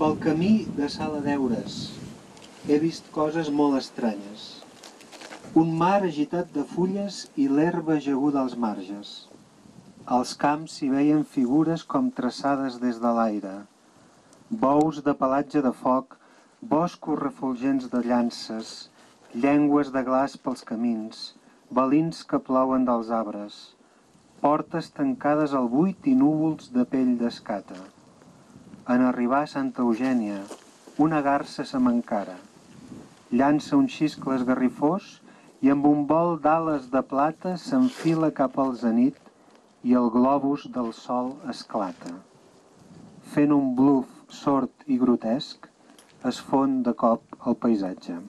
Pel camí de Sala d'Eures he vist coses molt estranyes. Un mar agitat de fulles i l'herba ajaguda als marges. Als camps s'hi veien figures com traçades des de l'aire. Bous de pelatge de foc, boscos refulgents de llances, llengües de glaç pels camins, balins que plouen dels arbres, portes tancades al buit i núvols de pell d'escata. En arribar a Santa Eugènia, una garsa se m'encara. Llança un xiscle esgarrifós i amb un vol d'ales de plata s'enfila cap al zenit i el globus del sol esclata. Fent un bluf sord i grotesc, es fon de cop el paisatge.